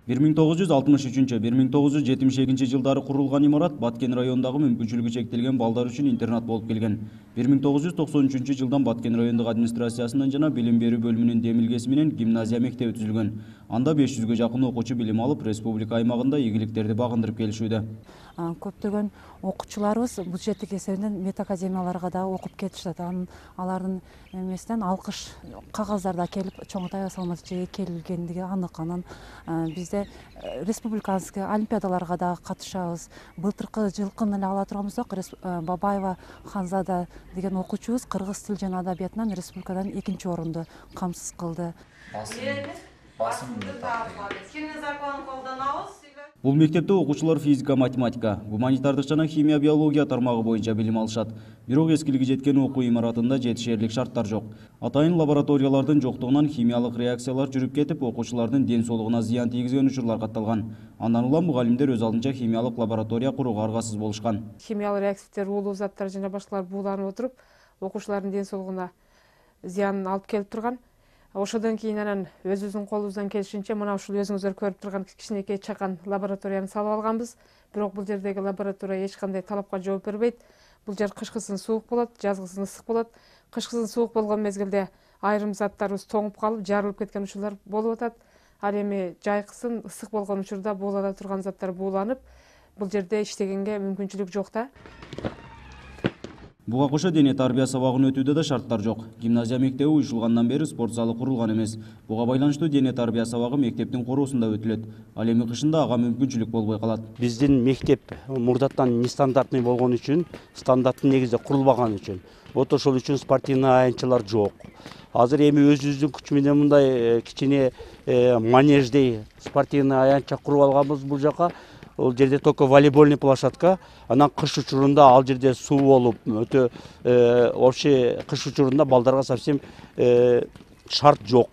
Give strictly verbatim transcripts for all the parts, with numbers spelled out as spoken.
бир миң тогуз жүз алтымыш үчүнчү — бир миң тогуз жүз жетимиш экинчи жылдары курулган имарат Баткен районундагы мүмкүнчүлүгү чектелген балдар үчүн интернат болуп келген. бир миң тогуз жүз токсон үчүнчү жылдан Баткен райондук администрациясынын жана билим берүү бөлүмүнүн демилгеси менен гимназия мектеби түзүлгөн. Анда беш жүзгө жакын окуучу билим алып, республика аймагында ийгиликтерди багындырып келишүүдө. Көптөгөн окуучуларыбыз бюджеттик эсебинен медакадемияларга да окуп кетишет. Алардын эмесинен алкыш кагаздар да келип Чоңой салмачыга келгендиги анык. Анан бизде республиканский олимпиадаларга да катышабыз. Былтыркы жылкын эле ала турган болсок, Бабаева Ханзада деген окуучубуз кыргыз тил жана адабиятынан республикадан экинчи орунду камсыз кылды. Бул мектепте окуучулар физика, математика, гуманитардык жана химия, биология тармагы боюнча билим алышат. Бирок эскилиги жеткен окуу имаратында жетишерлик шарттар жок. Атайын лабораториялардын жоктугунан химиялык реакциялар жүрүп кетип, окуучулардын ден соолугуна зыян тийгизген учурлар катталган. Андан улам мугалимдер өз алдынча химиялык лаборатория курууга аргасыз болушкан. Химиялык реактивдер, уулуу заттар жана башкалар бууланып отуруп, окуучулардын ден соолугуна зыянын алып келип турган. Ошодон кийин анан өзүбүздүн колубуздан келишинче мына ушул өзүңүздөр көрүп турган кичинекей чакан лабораторияны салып алганбыз. Бирок бул жердеги лаборатория эч кандай талапка жооп бербейт. Бул жер кышкысын суук болот, жазгысын ысык болот. Кышкысын суук болгон мезгилде айрым заттарыбыз тоңуп калып, жарылып кеткен учурлар болуп атат. Ал эми жайкысын ысык болгон учурда буулана турган заттар бууланып, бул жерде иштегенге мүмкүнчүлүк жок да. Буга кошо дене тарбия сабагын өтүүдө да шарттар жок. Гимназия мектеби уюшулгандан бери спорт залы курулган эмес. Буга байланыштуу дене тарбия сабагы мектептин короосунда өтүлөт. Ал эми кышында ага мүмкүнчүлүк болбой калат. Биздин мектеп мурдаттан нестандартный болгон үчүн, стандарттын негизинде курулбаган үчүн, вот ошол үчүн спортивный аянтчалар жок. Азыр эми өзүбүздүн күч менен мындай кичине манеждей спортивный аянтча куруп алганбыз бул жака. Ол жерде только волейбольный площадка, анан кыш учурунда ал жерде суу болуп, өтө вообще кыш учурунда балдарга совсем шарт жок.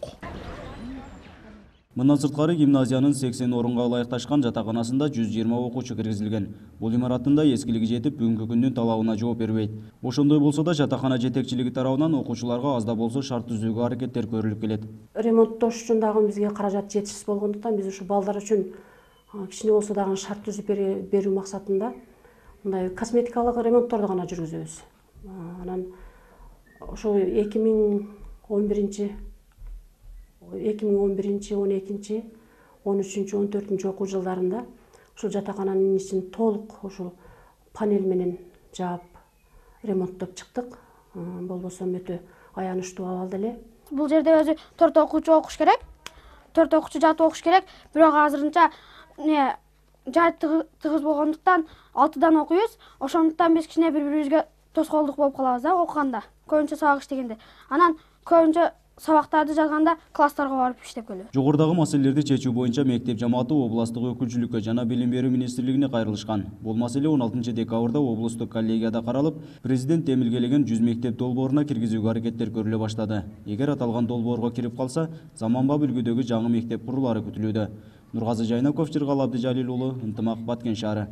Мындан сырткары гимназиянын сексен орунга ылайыкташкан жатаканасында жүз жыйырма окуучу киргизилген. Бул имараттын да эскилиги жетип, бүгүнкү күндүн талабына жооп бербейт. Ошондой болсо да жатакана жетекчилиги тарабынан окуучуларга аз да болсо шарт түзүүгө аракеттер көрүлүп келет. Ремонттош үчүн дагы бизге каражат жетишсиз болгондуктан биз ушу балдар үчүн кичине болсо дагы шарт түзүп берүү максатында мындай косметикалык ремонтторду гана жүргүзөбүз. Анан ошо эки миң он биринчи, эки миң он биринчи, он экинчи, он үчүнчү, он төртүнчү окуу жылдарында ушул жатакананын ичин толук ушул панель менен жаап ремонттоп чыктык. Болбосо өтө аянычтуу абалда эле. Бул жерде өзү төрт окуучу окуш керек. төрт окуучу жатып окуш керек. Бирок азырынча не жай тыгыз болгондуктан алтыдан окуйбуз. Ошондуктан биз кичине бири-бирибизге тоскоолдук болуп калабыз да окуганда, көбүнчө сабак иштегенде. Анан көбүнчө сабактарды жазганда класстарга барып иштеп келебиз. Жогорудагы маселелерди чечүү боюнча мектеп жамааты областык өкүлчүлүккө жана билим берүү министрлигине кайрылышкан. Бул маселе он алтынчы декабрда облустук коллегияда каралып, президент демилгелеген жүз мектеп долбооруна киргизүүгө аракеттер көрүлө баштады. Эгер аталган долбоорго кирип калса, заманбап үлгүдөгү жаңы мектеп курулары күтүлүүдө. Нургазы Жайнаков, Жыргал Абдыжалил уулу, Ынтымак, Баткен шаары.